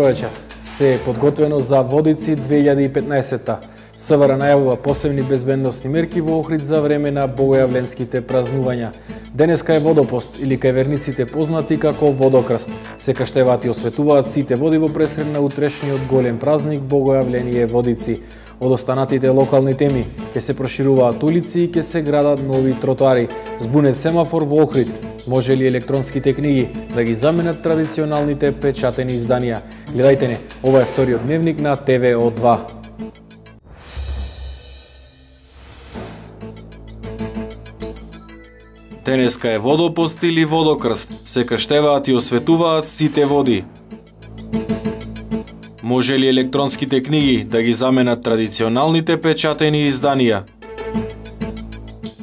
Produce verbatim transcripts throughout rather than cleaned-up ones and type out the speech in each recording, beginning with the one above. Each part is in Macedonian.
добро вечер. Се е подготвено за Водици две илјади и петнаесетта. СВР најавува посебни безбедносни мерки во Охрид за време на богојавленските празнувања. Денеска е водопост или кај верниците познати како Водокрст. Се каштеваат и осветуваат сите води во пресред на утрешниот голем празник Богојавление Водици. Од останатите локални теми ќе се прошируваат улици и ќе се градат нови тротоари. Збунет семафор во Охрид. Може ли електронските книги да ги заменат традиционалните печатени изданија? Гледајте не, ова е вториот дневник на Т В О два. Денеска е водопост или водокрст. Се крштеваат и осветуваат сите води. Може ли електронските книги да ги заменат традиционалните печатени изданија?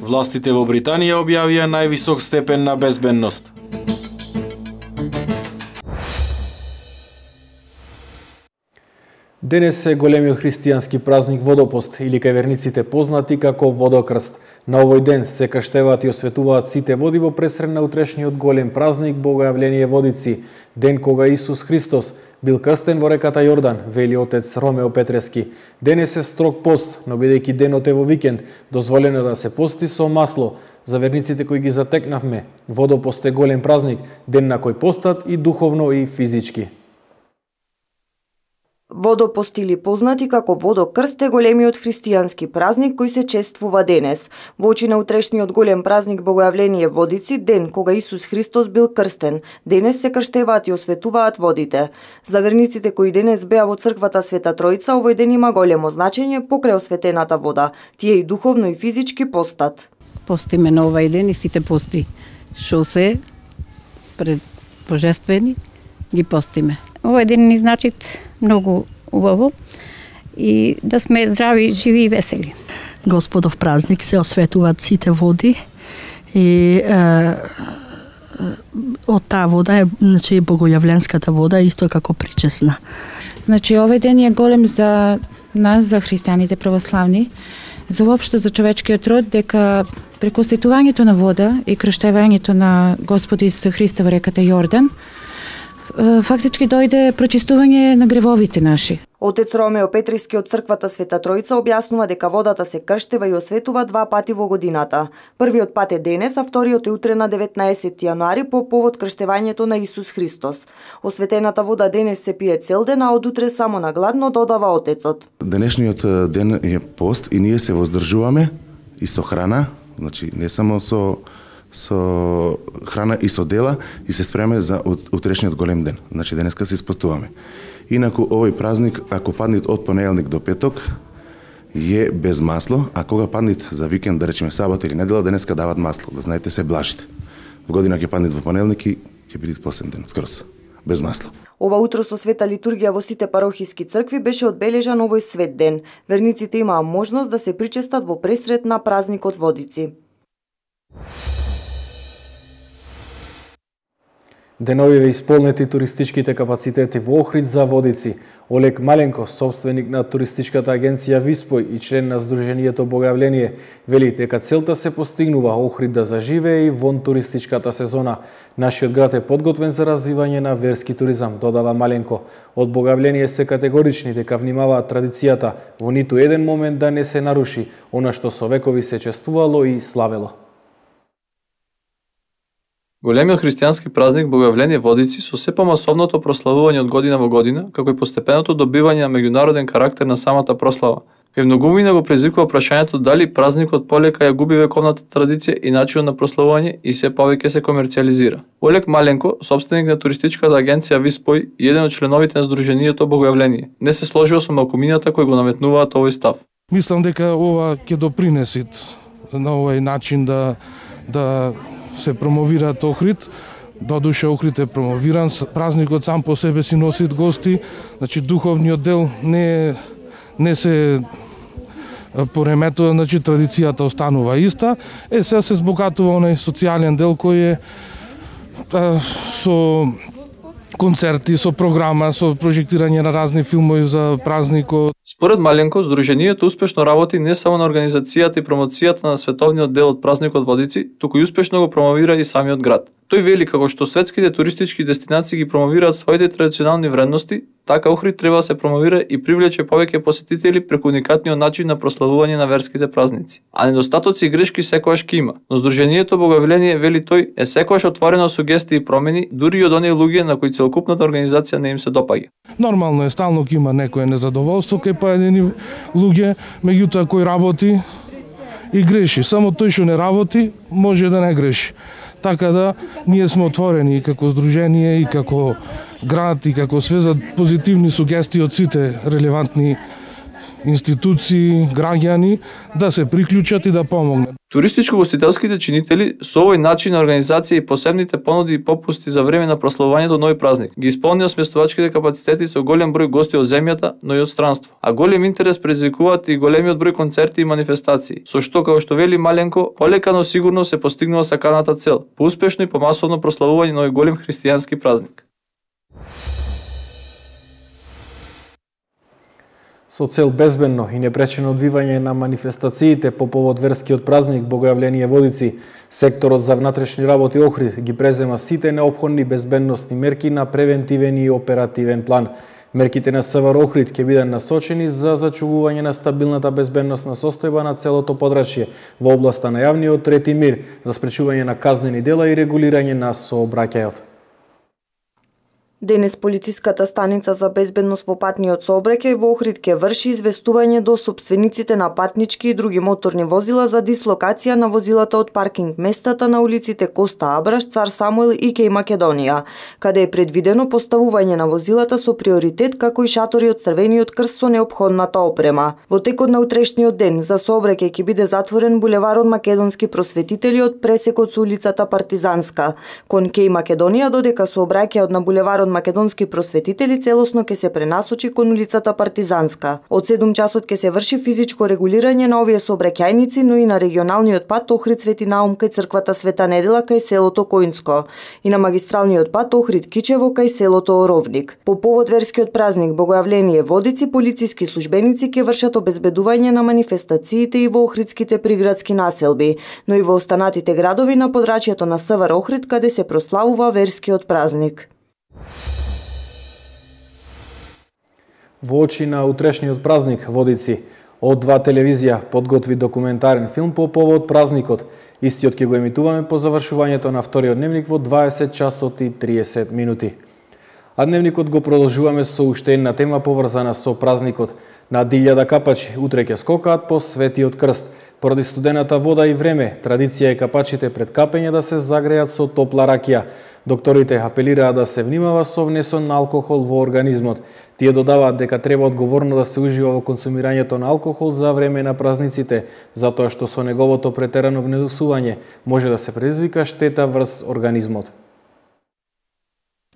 Властите во Британија објавија највисок степен на безбедност. Денес е големиот христијански празник Водопост или кај верниците познати како Водокрст. На овој ден се крштеваат и осветуваат сите води во пресред на утрешниот голем празник Богојавление Водици, ден кога Исус Христос бил крстен во реката Јордан, вели отец Ромео Петрески. Денес е строг пост, но бидејќи денот е во викенд, дозволено да се пости со масло. За верниците кои ги затекнавме, Водопост е голем празник, ден на кој постат и духовно и физички. Водопост или познати како Водокрст е големиот христијански празник кој се чествува денес. Во очи на утрешниот голем празник Богојавление Водици, ден кога Исус Христос бил крстен, денес се крштеваат и осветуваат водите. За верниците кои денес беа во црквата Света Тројца, овој ден има големо значење покрај осветената вода. Тие и духовно и физички постат. Постиме на овај ден и сите пости што се пред божествени ги постиме. Овој ден ни значи многу убаво и да сме здрави, живи и весели. Господов празник се осветуваат сите води и е, од таа вода е, значи, богојавленската вода исто како причесна. Значи овој ден е голем за нас, за христијаните православни, за воопшто за човечкиот род, дека преку осветувањето на вода и крштевањето на Господи Исус Христа во реката Јордан, фактички дојде прочистување на гревовите наши. Отец Ромео Петрески од црквата Света Тројца објаснува дека водата се крштева и осветува два пати во годината. Првиот пат е денес, а вториот е утре на деветнаесетти јануари по повод крштевањето на Исус Христос. Осветената вода денес се пие цел ден, а од утре само на гладно, додава отецот. Денешниот ден е пост и ние се воздржуваме и со храна, значи не само со со храна и со дела и се спремаме за утрешниот голем ден. Значи денеска се испостуваме. Инаку овој празник, ако паднит од понеделник до петок, е без масло, а кога паднит за викенд, да речеме сабота или недела, денеска дават масло, да знаете се блажите. В година ќе паднит во понеделник и ќе биде посебен ден, скрос, без масло. Ова утро со света литургија во сите парохиски цркви беше одбележан овој свет ден. Верниците имаа можност да се причестат во пресред на празникот Водици. Деновиве исполнети туристичките капацитети во Охрид за Водици. Олег Маленко, собственик на туристичката агенција Виспој и член на Сдруженијето Богојавление, вели дека целта се постигнува Охрид да заживее и вон туристичката сезона. Нашиот град е подготвен за развивање на верски туризам, додава Маленко. Од Богојавление се категорични дека внимаваат традицијата во ниту еден момент да не се наруши она што со векови се чествувало и славело. Големиот христијански празник Богојавление Водици со се помасовното прославување од година во година, како и постепеното добивање на меѓународен карактер на самата прослава. Кај многумина го предизвикува прашањето дали празникот полека ја губи вековната традиција и начинот на прославување и се повеќе се комерцијализира. Олег Маленко, собственик на туристичката агенција Виспој и еден од членовите на Сдруженијето Богојавление, не се сложил со малкумината кои го наметнуваат овој став. Мислам дека ова ќе допринеси на овој начин да да се промовираат Охрид. Додуше Охрид е промовиран, празникот сам по себе си носи гости, значи духовниот дел не не се пореметува, значи традицијата останува иста. Е сега се збогатува онај социјален дел кој е а, со концерти, со програма, со прожектирање на разни филмови за празникот. Според Маленко, Сдруженијето успешно работи не само на организацијата и промоцијата на световниот дел од празникот Водици, туку и успешно го промовира и самиот град. Тој вели како што светските туристички дестинации ги промовираат своите традиционални вредности, така Охрид треба да се промовира и привлече повеќе посетители преку уникатниот начин на прославување на верските празници. А недостатоци и грешки секогаш ќе има, но Сдруженијето Богојавление, вели тој, е секогаш отворено сугестии и промени, дури и од оние луѓе на кои целокупната организација не им се допаѓа. Нормално е, стално ќе има некое незадоволство кај поедини луѓе, меѓутоа кој работи и греши. Само тој што не работи може да не греши. Така да ние сме отворени и како здружение и како град и како све за позитивни сугестии од сите релевантни институции, граѓани да се приклучат и да помогнат. Туристичко-гостителските чинители со овој начин на организација и посебните понуди и попусти за време на прославувањето нови празник ги исполнија сместувачките капацитети со голем број гости од земјата, но и од странство. А голем интерес предизвикуваат и големиот број концерти и манифестации, со што, како што вели Маленко, полека но сигурно се постигнува саканата цел, поуспешно и помасовно прославување на овој голем христијански празник. Со цел безбедно и непречено одвивање на манифестациите по повод верскиот празник Богојавление Водици, секторот за внатрешни работи Охрид ги презема сите неопходни безбедносни мерки на превентивен и оперативен план. Мерките на СВР Охрид ќе бидат насочени за зачувување на стабилната безбедносна состојба на целото подрачје во областа на јавниот ред и мир, за спречување на казнени дела и регулирање на сообраќајот. Денес полициската станица за безбедност во патниот сообраќај во Охрид ќе врши известување до сопствениците на патнички и други моторни возила за дислокација на возилата од паркинг местата на улиците Коста Абраш, Цар Самуел и Кеј Македонија, каде е предвидено поставување на возилата со приоритет како и шатори од Црвениот крст со неопходната опрема. Во текот на утрешниот ден за сообраќај ќе биде затворен булеварот Македонски просветители од пресекот со улицата Партизанска кон Кеј Македонија, додека сообраќајот на булеварот Македонски просветители целосно ќе се пренасочи кон улицата Партизанска. Од седум часот ќе се врши физичко регулирање на овие сообраќајници, но и на регионалниот пат Охрид Свети Наум кај црквата Света Недела кај селото Коинско и на магистралниот пат Охрид Кичево кај селото Оровник. По повод верскиот празник Богојавление Водици, полициски службеници ќе вршат обезбедување на манифестациите и во охридските приградски населби, но и во останатите градови на подрачјето на СВР Охрид каде се прославува верскиот празник. Во очи на утрешниот празник Водици, од два телевизија подготви документарен филм по повод празникот. Истиот ќе го емитуваме по завршувањето на вториот дневник во дваесет часот и триесет минути. А дневникот го продолжуваме со уште една тема поврзана со празникот. На илјада капачи утре ќе скокаат по Светиот крст. Поради студената вода и време, традиција е капачите пред капење да се загреат со топла ракија. Докторите апелираат да се внимава со внесен на алкохол во организмот. Тие додаваат дека треба одговорно да се ужива во консумирањето на алкохол за време на празниците, затоа што со неговото претерано внесување може да се предизвика штета врз организмот.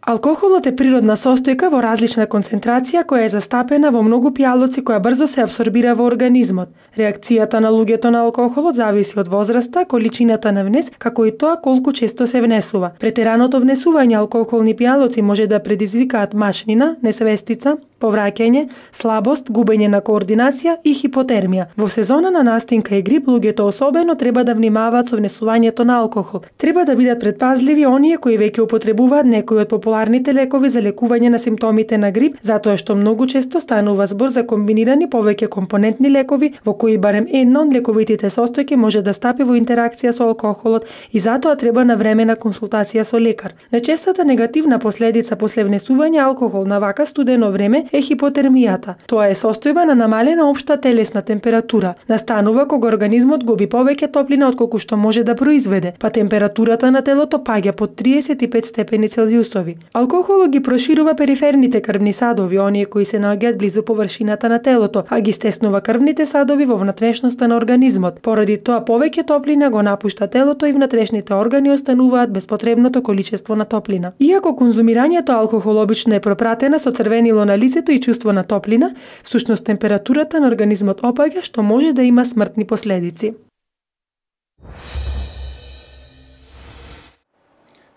Алкохолот е природна состојка во различна концентрација која е застапена во многу пијалоци која брзо се апсорбира во организмот. Реакцијата на луѓето на алкохолот зависи од возраста, количината на внес, како и тоа колку често се внесува. Претераното внесување алкохолни пијалоци може да предизвикаат мачнина, несвестица, повраќање, слабост, губење на координација и хипотермија. Во сезона на настинка и грип луѓето особено треба да внимаваат со внесувањето на алкохол. Треба да бидат предпазливи оние кои веќе употребуваат некои од популарните лекови за лекување на симптомите на грип, затоа што многу често станува збор за комбинирани повеќе компонентни лекови во кои барем една од лековитите состојки може да стапи во интеракција со алкохолот и затоа треба навремена консултација со лекар. Најчестата негативна последица после внесување алкохол на вака студено време е хипотермијата. Тоа е состојба на намалена општа телесна температура. Настанува кога организмот губи повеќе топлина отколку што може да произведе, па температурата на телото паѓа под триесет и пет степени Целзиусови. Алкохолот ги проширува периферните крвни садови, оние кои се наоѓаат близу површината на телото, а ги стеснува крвните садови во внатрешноста на организмот. Поради тоа повеќе топлина го напушта телото и внатрешните органи остануваат без потребното количество на топлина. Иако конзумирањето алкохол обично е пропратена со црвенило на лицето и чувство на топлина, всушност температурата на организмот опаѓа, што може да има смртни последици.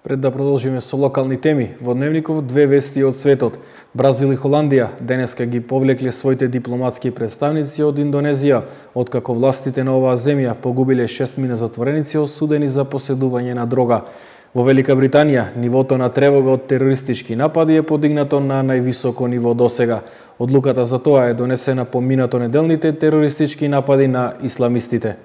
Пред да продолжиме со локални теми, во дневников две вести од светот. Бразил и Холандија денеска ги повлекле своите дипломатски представници од Индонезија, откако властите на оваа земја погубиле шестмина затвореници осудени за поседување на дрога. Во Велика Британија, нивото на тревога од терористички напади е подигнато на највисоко ниво досега. Одлуката за тоа е донесена по минато неделните терористички напади на исламистите.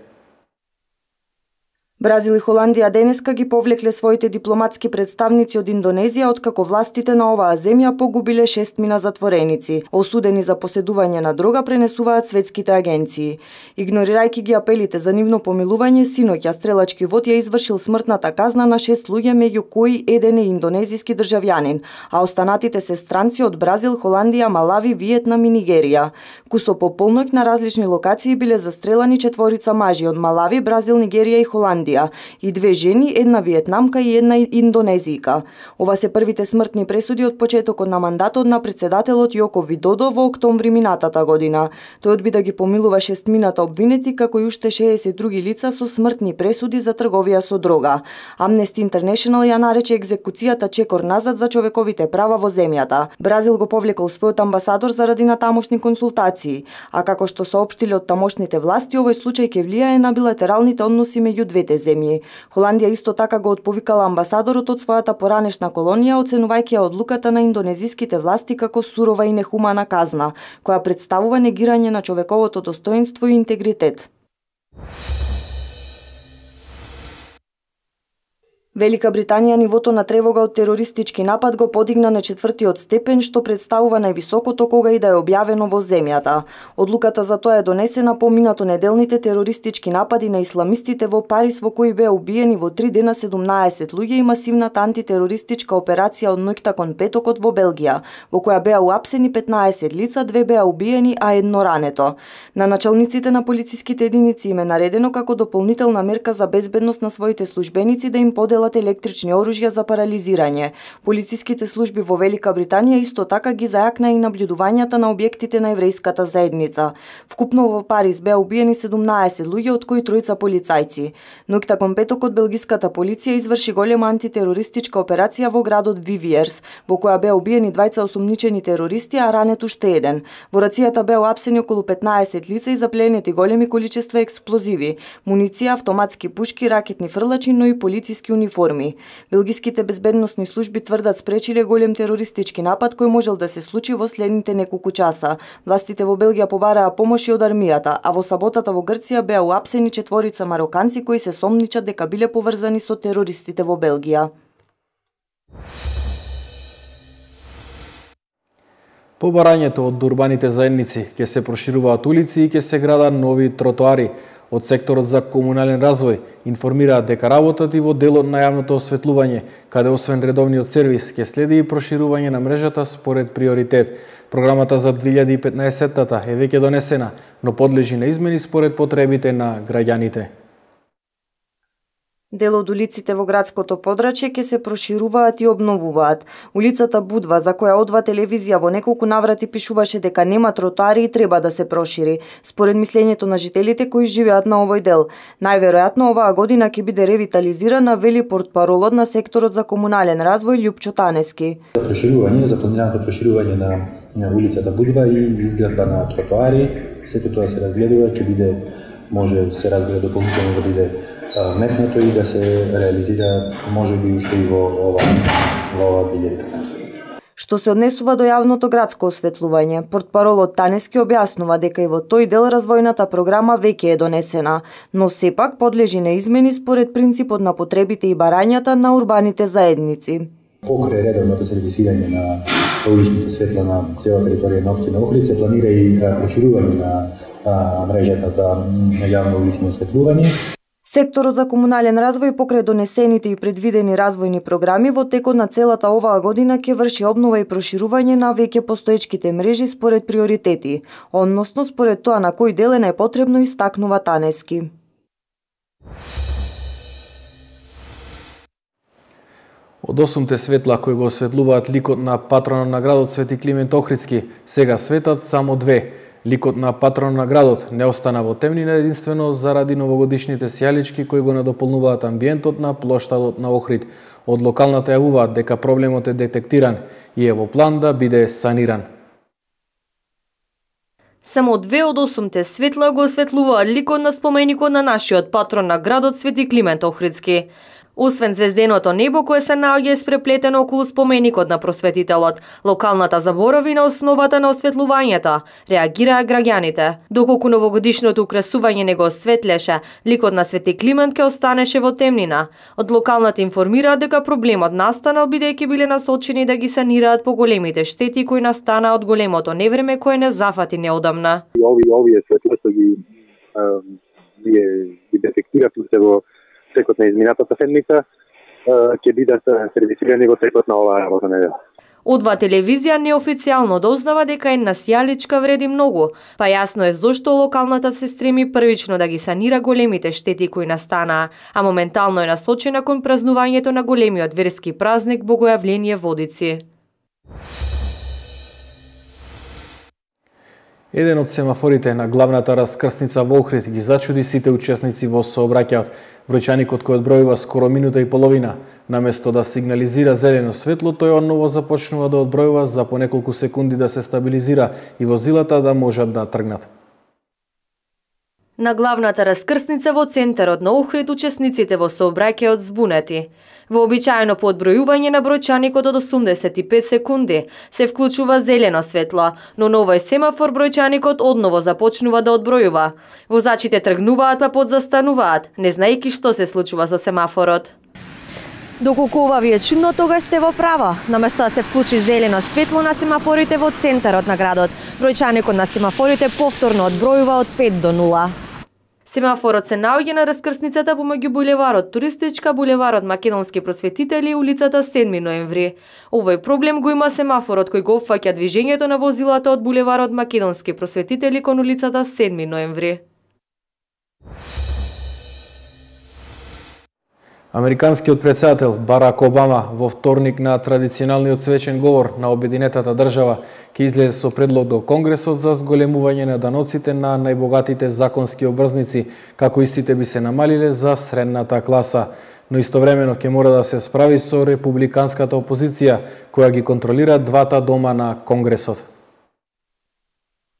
Бразил и Холандија денеска ги повлекле своите дипломатски представници од Индонезија, откако властите на оваа земја погубиле шестмина затвореници, осудени за поседување на дрога, пренесуваат светските агенции. Игнорирајќи ги апелите за нивно помилување, синоќа стрелачки вод ја извршил смртната казна на шест луѓе, меѓу кои еден е индонезиски државјанин, а останатите се странци од Бразил, Холандија, Малави, Виетнам и Нигерија. Кусо по полноќ на различни локации биле застрелани четворица мажи од Малави, Бразил, Нигерија и Холандија и две жени, една виетнамка и една индонезијка. Ова се првите смртни пресуди од почетокот на мандатот на председателот Јоко Видодо во октомври минатата година. Тој одби да ги помилува шестмината обвинети, како и уште шеесет други лица со смртни пресуди за трговија со дрога. Amnesty International ја нарече екзекуцијата чекор назад за човековите права во земјата. Бразил го повлекол својот амбасадор заради натамошни консултации, а како што соопштиле од тамошните власти, овој случај ќе влијае на билатералните односи меѓу двете земји. Холандија исто така го отповикала амбасадорот од својата поранешна колонија, оценувајќи ја одлуката на индонезиските власти како сурова и нехумана казна, која представува негирање на човековото достоинство и интегритет. Велика Британија нивото на тревога од терористички напад го подигна на четвртиот степен, што представува највисокото кога и да е објавено во земјата. Одлуката за тоа е донесена по минато неделните терористички напади на исламистите во Париз, во кои беа убиени во три дена седумнаесет луѓе, и масивната антитерористичка операција од ноќта кон петокот во Белгија, во која беа уапсени петнаесет лица, две беа убиени, а едно рането. На началниците на полициските единици им е наредено како дополнителна мерка за безбедност на своите службеници да им поделат електрични оружја за парализирање. Полициските служби во Велика Британија исто така ги зајакна и наблюдувањата на објектите на еврејската заедница. Вкупно во Париз беа убиени седумнаесет луѓе, од кои тројца полицајци. Ноќта кон петокот белгиската полиција изврши голема антитерористичка операција во градот Вивиерс, во која беа убиени двајца осумничени терористи, а ранет уште еден. Во рацијата беа уапсени околу петнаесет лица и запленети големи количества експлозиви, муниција, автоматски пушки, ракетни фрлачи, но и полициски униформи. Белгиските безбедносни служби тврдат спречиле голем терористички напад кој можел да се случи во следните неколку часа. Властите во Белгија побараа помоши од армијата, а во саботата во Грција беа уапсени четворица мароканци кои се сомничат дека биле поврзани со терористите во Белгија. Побарањето од урбаните заедници ќе се прошируваат улици и ќе се градат нови тротоари. Од секторот за комунален развој информираат дека работат и во делот на јавното осветлување, каде освен редовниот сервис ќе следи и проширување на мрежата според приоритет. Програмата за две илјади и петнаесеттата е веќе донесена, но подлежи на измени според потребите на граѓаните. Дел од улиците во градското подрачје ќе се прошируваат и обновуваат. Улицата Будва, за која Одва телевизија во неколку наврати пишуваше дека нема тротоари и треба да се прошири, според мислењето на жителите кои живеат на овој дел. Најверојатно оваа година ќе биде ревитализирана, вели портпаролот на секторот за комунален развој Љупчо Танески. За проширување, за планираното проширување на, на улицата Будва и изградба на тротоари, сето тоа се разгледува, ќе биде, може се разбира дополнително да биде метнато и да се реализира можеби уште и во ова во ова две илјади и петнаесетта. Што се однесува до јавното градско осветлување, портпаролот Танески објаснува дека и во тој дел развојната програма веќе е донесена, но сепак подлежи на измени според принципот на потребите и барањата на урбаните заедници. Покрај редовното сервисирање на уличните светла на цела територија на општина Охрид се планира и проширување на а, мрежата за јавно улично осветлување. Секторот за комунален развој покрај донесените и предвидени развојни програми во текот на целата оваа година ќе врши обнова и проширување на веќе постоечките мрежи според приоритети, односно според тоа на кој дел е најпотребно, истакнува Танески. Од осумте светла кои го осветлуваат ликот на патронот на градот Свети Климент Охридски, сега светат само две. Ликот на патрон на градот не остана во темнина единствено заради новогодишните сијалички кои го надополнуваат амбиентот на плоштадот на Охрид. Од локалната јавуваат дека проблемот е детектиран и е во план да биде саниран. Само две од осумте светла го осветлуваат ликот на споменикот на нашиот патрон на градот Свети Климент Охридски. Освен звезденото небо кое се наоѓа испреплетено околу споменикот на просветителот, локалната заборови на основата на осветлувањето, реагираа граѓаните. Доколку новогодишното украсување не го осветлеше, ликот на Свети Климент ке останеше во темнина. Од локалната информираат дека проблемот настанал бидејќи биле насочени да ги санираат поголемите штети кои настанаа од големото невреме кое не зафати неодамна. И овие овие светла што ги ги, ги детектиравме се во текот на изминатата седмица, ќе бидат сервисирани во текот на оваа работна недела. Одва телевизија неофицијално дознава дека една сијаличка вреди многу, па јасно е зошто локалната се стреми првично да ги санира големите штети кои настанаа, а моментално е насочена кон празнувањето на големиот верски празник Богојавление Водици. Еден од семафорите на главната раскрсница во Охрид ги зачуди сите учесници во сообраќајот. Бројчаникот кој одбројува скоро минута и половина, наместо да сигнализира зелено светло, тој одново започнува да одбројува за по неколку секунди да се стабилизира и возилата да можат да тргнат. На главната раскрсница во центарот на Охрид учесниците во сообраќајот збунети. Вообичаено по одбројување на бројчаникот од осумдесет и пет секунди се вклучува зелено светло, но на овој семафор бројчаникот одново започнува да одбројува. Возачите тргнуваат па подзастануваат, не знаејќи што се случува со семафорот. Доколку ова ви е чудно, тогаш сте во право. Наместо да се вклучи зелено светло на семафорите во центарот на градот, бројчаникот на семафорите повторно одбројува од пет до нула. Семафорот се наоѓа на раскрсницата помеѓу булеварот Туристичка, булеварот Македонски просветители и улицата седми ноември. Овој проблем го има семафорот кој го опфаќа движењето на возилата од булеварот Македонски просветители кон улицата седми ноември. Американскиот претседател Барак Обама во вторник на традиционалниот свечен говор на обединетата држава ќе излезе со предлог до Конгресот за зголемување на даноците на најбогатите законски обврзници, како истите би се намалиле за средната класа. Но истовремено ќе мора да се справи со републиканската опозиција, која ги контролира двата дома на Конгресот.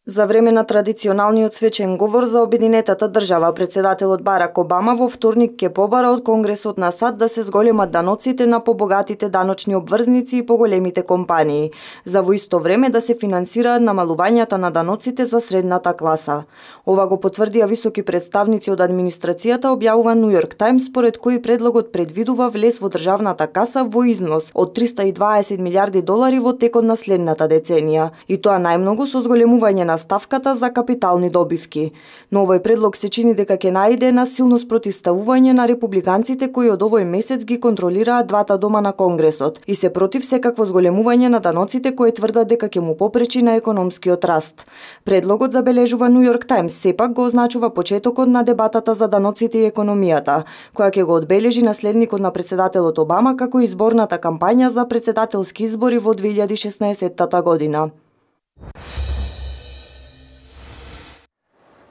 За време на традиционалниот свечен говор за обединетата држава, претседателот Барак Обама во вторник ќе побара од Конгресот на САД да се зголемат даноците на побогатите даночни обврзници и поголемите компании, за во исто време да се финансираат намалувањата на даноците за средната класа. Ова го потврдија високи представници од администрацијата, објавува New York Times, според кој предлогот предвидува влез во државната каса во износ од триста и дваесет милиарди долари во текот на следната деценија, и тоа најмногу со зголемување на ставката за капитални добивки. Но овој предлог се чини дека ќе најде на силно спротивставување на републиканците кои од овој месец ги контролираат двата дома на Конгресот и се против секакво зголемување на даноците кои тврдат дека ќе му попречи на економскиот раст. Предлогот, забележува New York Times, сепак го означува почетокот на дебатата за даноците и економијата, која ќе го одбележи наследникот на претседателот Обама како изборната кампања за претседателски избори во две илјади и шеснаесетта година.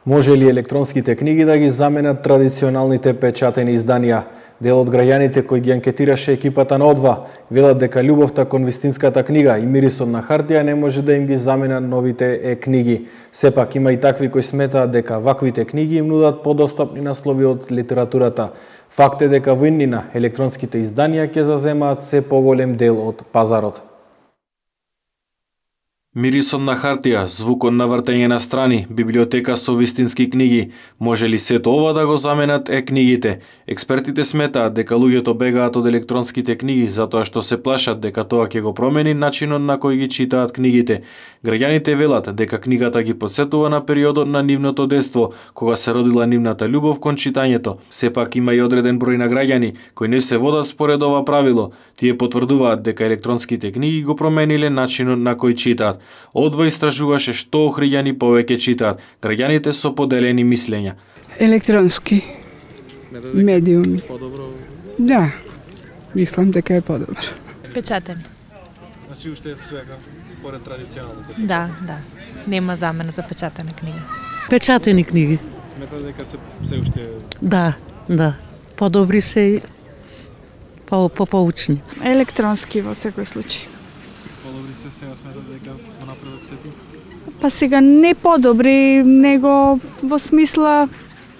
Може ли електронските книги да ги заменат традиционалните печатени изданија? Дел од граѓаните кои ги анкетираше екипата на Одва велат дека љубовта кон вистинската книга и мирисот на хартија не може да им ги замена новите е-книги. Сепак има и такви кои сметаат дека ваквите книги им нудат подостапни наслови од литературата. Факт е дека во иднина електронските изданија ќе заземаат се поголем дел од пазарот. Мирисот на хартија, звукот на вртење на страни, библиотека со вистински книги, може ли сето ова да го заменат е-книгите? Експертите сметаат дека луѓето бегаат од електронските книги затоа што се плашат дека тоа ќе го промени начинот на кој ги читаат книгите. Граѓаните велат дека книгата ги потсетува на периодот на нивното детство, кога се родила нивната љубов кон читањето. Сепак има и одреден број на граѓани кои не се водат според ова правило. Тие потврдуваат дека електронските книги го промениле начинот на кој читаат. Одва истражуваше што охриѓани повеќе читаат, граѓаните со поделени мислења. Електронски медиуми. Подобро? Да, мислам дека е подобро. Печатени. Значи уште е свега поред традиционалните? Да, да. Нема замена за печатени книги. Печатени книги. Сметате дека се се уште Да, да. Подобри се по попоучни. Електронски во секој случај. Подобри се сега сметате дека во напредок сети? Па сега не подобри, него во смисла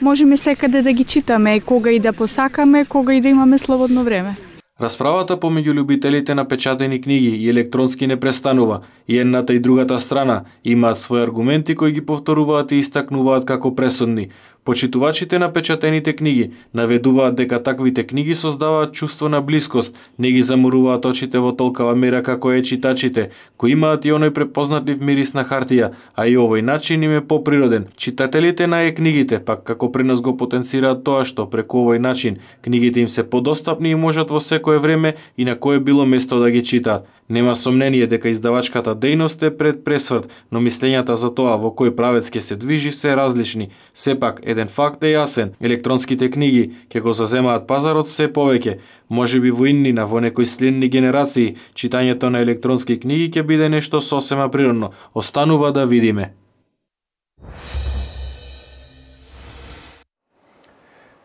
можеме секаде да ги читаме, кога и да посакаме, кога и да имаме слободно време. Расправата помеѓу љубителите на печатени книги и електронски не престанува. И едната и другата страна имаат своји аргументи кои ги повторуваат и истакнуваат како пресудни. Почитувачите на печатените книги наведуваат дека таквите книги создаваат чувство на блискост, не ги заморуваат очите во толкава мера како е читачите, кои имаат и оној препознатлив мирис на хартија, а и овој начин им е поприроден. Читателите на е-книгите пак како пренос го потенцираат тоа што преку овој начин книгите им се подостапни и можат во секое време и на кое било место да ги читаат. Нема сомнение дека издавачката дејност е пред пресврт, но мислењата за тоа во кој правец ќе се движи се различни. Сепак, еден факт е јасен, електронските книги ќе го заземаат пазарот се повеќе. Можеби во иднина, во некои следни генерации, читањето на електронски книги ќе биде нешто сосема природно. Останува да видиме.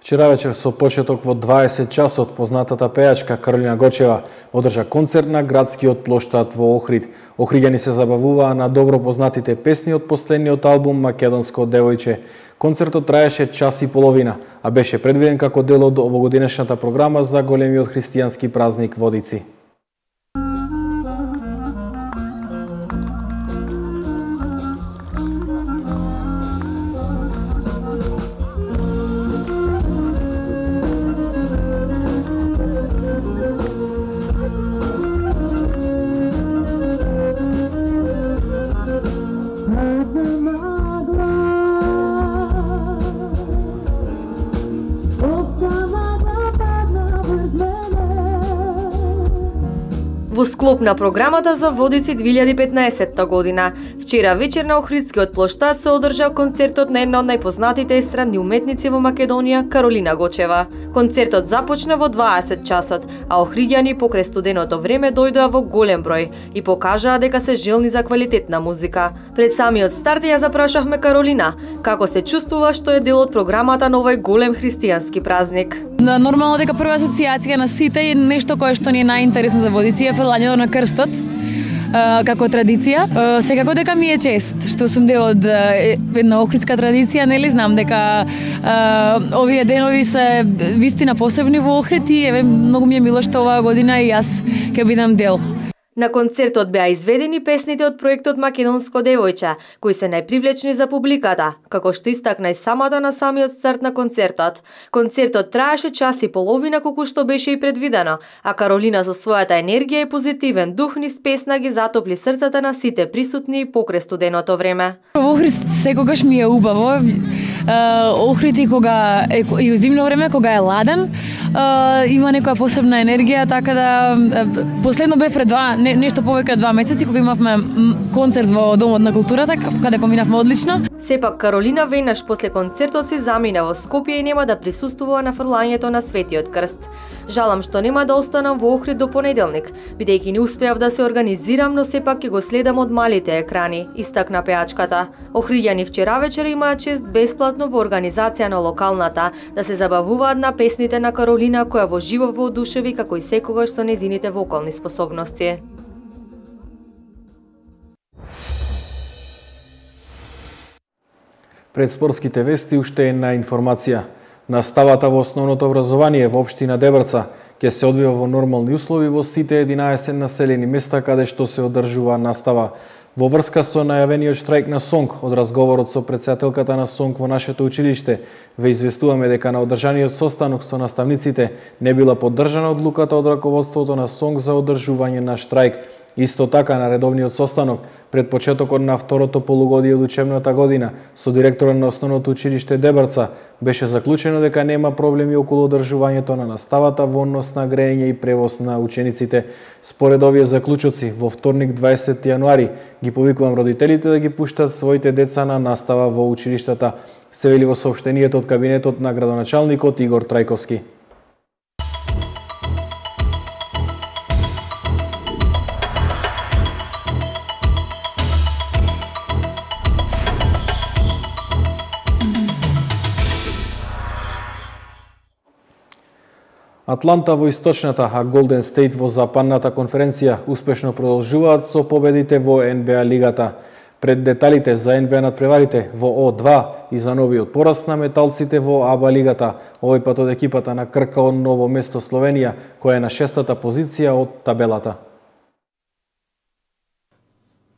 Вчера вечер со почеток во дваесет часот познатата пејачка Каролина Гочева одржа концерт на градскиот плоштад во Охрид. Охриѓани се забавуваа на добро познатите песни од последниот албум Македонско девојче. Концертот траеше час и половина, а беше предвиден како дел од овогодинешната програма за големиот христијански празник Водици. Во склоп на програмата за Водици две илјади и петнаесетта година, вчера вечер на Охридскиот плоштад се одржа концертот на една од најпознатите естрадни уметници во Македонија, Каролина Гочева. Концертот започна во дваесет часот, а охриѓани покрај студеното време дојдоа во голем број и покажаа дека се желни за квалитетна музика. Пред самиот старт ја запрашавме Каролина како се чувствува што е дел од програмата на овој голем христијански празник. Нормално дека прва асоциација на сите е нешто кое што ни е најинтересно за Водици е фрлањето на крстот како традиција. Секако дека ми е чест што сум дел од една охридска традиција, нели знам дека овие денови се вистина посебни во Охрид и еве многу ми е мило што оваа година и јас ќе бидам дел. На концертот беа изведени песните од проектот Македонско девојче, кои се најпривлечни за публиката, како што истакна и самата на самиот старт на концертот. Концертот траеше час и половина колку што беше и предвидено, а Каролина со својата енергија и позитивен дух низ песна ги затопли срцата на сите присутни и покрај студеното време. Во Охрид секогаш ми е убаво. Охрид и кога е, и зимно време кога е ладен, има некоја посебна енергија, така да последно бе пред два не, нешто повеќе од два месеци кога имавме концерт во Домот на културата, каде поминавме одлично. Сепак Каролина веднаш после концертот се замина во Скопје и нема да присуствува на фрлањето на Светиот крст. Жалам што нема да останам во Охрид до понеделник, бидејќи не успеав да се организирам, но сепак ќе го следам од малите екрани, истакна пејачката. Охриѓани вчера вечер имаат чест бесплатно во организација на локалната да се забавуваат на песните на Каролина, која во живо воодушеви како и секогаш со незините вокални способности. Пред спортските вести уште една информација. Наставата во основното образование во општина Дебрца ќе се одвива во нормални услови во сите единаесет населени места каде што се одржува настава. Во врска со најавениот штрајк на СОНК, од разговорот со претседателката на СОНК во нашето училиште, ве известуваме дека на одржаниот состанок со наставниците не била поддржана одлуката од раководството на СОНК за одржување на штрајк. Исто така, на редовниот состанок, пред почетокот на второто полугодие од учебната година, со директорот на основното училиште Дебрца, беше заклучено дека нема проблеми околу одржувањето на наставата во однос на грејење и превоз на учениците. Според овие заклучоци, во вторник дваесети јануари ги повикувам родителите да ги пуштат своите деца на настава во училиштата, се вели во соопштението од кабинетот на градоначалникот Игор Трајковски. А Атланта во источната, а Голден Стейт во западната конференција успешно продолжуваат со победите во Н Б А лигата. Пред деталите за Н Б А надпреварите во О два и за новиот пораст на металците во А Б А лигата, овој пат од екипата на Крка од Ново место Словенија, која е на шестата позиција од табелата.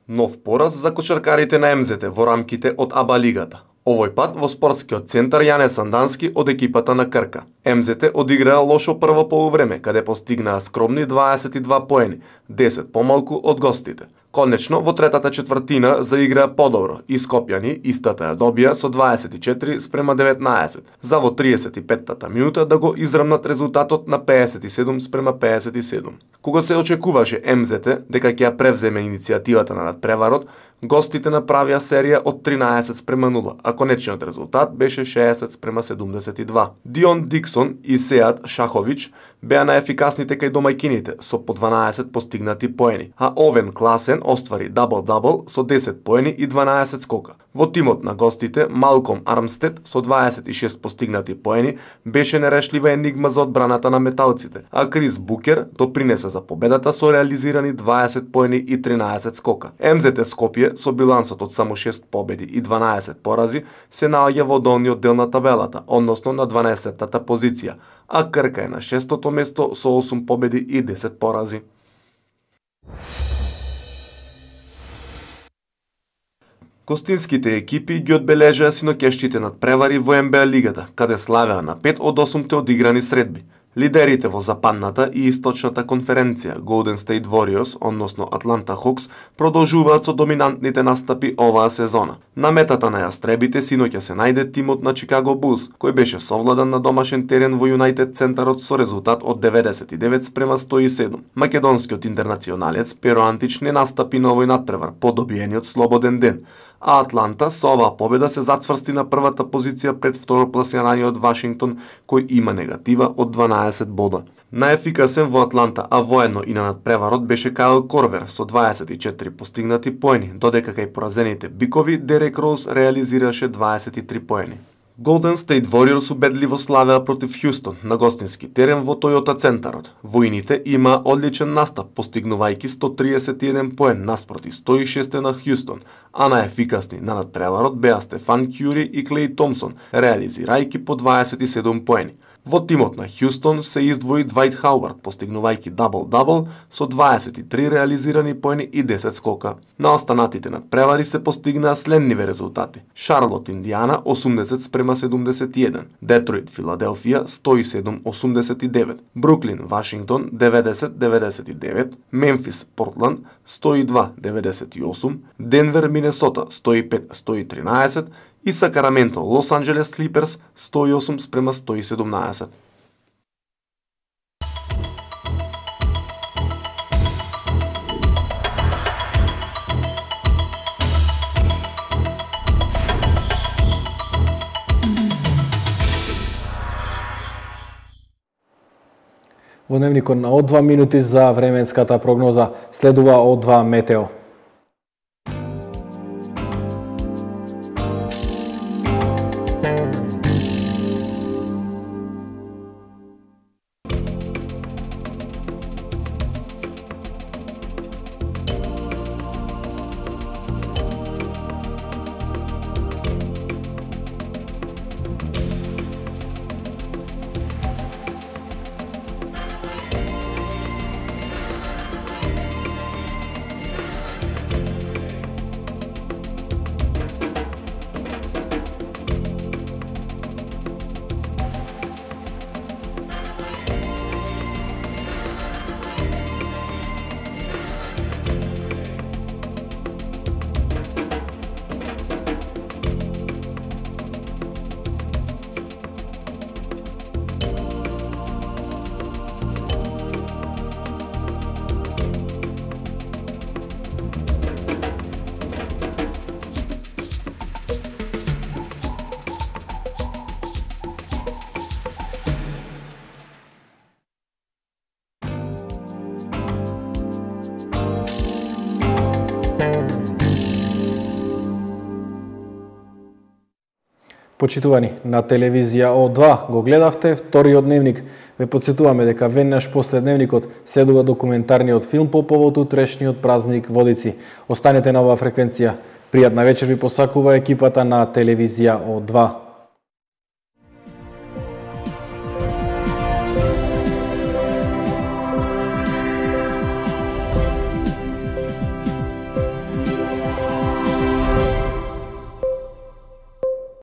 Нов пораз за кошаркарите на М З Т во рамките од А Б А лигата. Овој пат во спортскиот центар Јане Сандански од екипата на Крка. М З Т одиграа лошо прво полувреме, каде постигнаа скромни дваесет и два поени, десет помалку од гостите. Конечно, во третата четвртина заиграа подобро и Скопјани истата ја добија со дваесет и четири спрема деветнаесет, за во триесет и петтата минута да го израмнат резултатот на пеесет и седум спрема пеесет и седум. Кога се очекуваше М З Т дека ќе ја превземе иницијативата на надпреварот, гостите направија серија од тринаесет спрема нула, а конечниот резултат беше шеесет спрема седумдесет и два. Дион Диксон и Сеат Шахович беа најефикасните кај домајкините со по дванаесет постигнати поени, а Овен Класен оствари дабл-дабл со десет поени и дванаесет скока. Во тимот на гостите Малком Армстед со дваесет и шест постигнати поени беше нерешлива енигма за одбраната на металците, а Крис Букер допринесе за победата со реализирани дваесет поени и тринаесет скока. М З Т Скопје со билансот од само шест победи и дванаесет порази се наоѓа во долниот дел на табелата, односно на дванаесеттата позиција, а Крка е на шестото место со осум победи и десет порази. Гостинските екипи ги одбележаа синоќешните надпревари во Н Б А лигата, каде славеа на пет од осумте одиграни средби. Лидерите во западната и источната конференција Golden State Warriors, односно Атланта Хокс, продолжуваат со доминантните настапи оваа сезона. На метата на јастребите синоќа се најде тимот на Чикаго Булс, кој беше совладан на домашен терен во Юнајтед центарот со резултат од деветдесет и девет спрема сто и седум. Македонскиот интернационалец Перо Антич не настапи на овој надпревар по добиениот слободен ден, а Атланта со оваа победа се зацврсти на првата позиција пред второпласираниот Вашингтон, кој има негатива од дванаесет бода. Најефикасен во Атланта, а воедно и на надпреварот беше Кайл Корвер со дваесет и четири постигнати поени, додека кај поразените бикови Дерек Роуз реализираше дваесет и три поени. Golden State Warriors убедливо славеа против Хјустон на гостински терен во Тојота центарот. Воините има одличен настап, постигнувајќи сто триесет и еден поен наспроти сто и шест на Хјустон, а најефикасни на надпреварот беа Стефан Кјури и Клеј Томсон, реализирајќи по дваесет и седум поени. Во тимот на Хјустон се издвои Двајт Хауард, постигнувајќи дабл-дабл со дваесет и три реализирани поени и десет скока. На останатите надпревари се постигнаа следниве резултати. Шарлот Индијана осумдесет спрема седумдесет и еден, Детройт Филаделфија сто и седум осумдесет и девет, Бруклин Вашингтон деветдесет деветдесет и девет, Мемфис Портланд сто и два деветдесет и осум, Денвер Минесота сто и пет сто и тринаесет и Сакраменто Лос Анџелес Клиперс сто и осум спрема сто и седумнаесет. Во дневникот на О два минути за временската прогноза следува О два метео. Почитувани, на телевизија О два го гледавте вториот дневник. Ве подсетуваме дека веднаш после дневникот следува документарниот филм по повод утрешниот празник Водици. Останете на оваа фреквенција. Пријатна вечер ви посакува екипата на телевизија О два.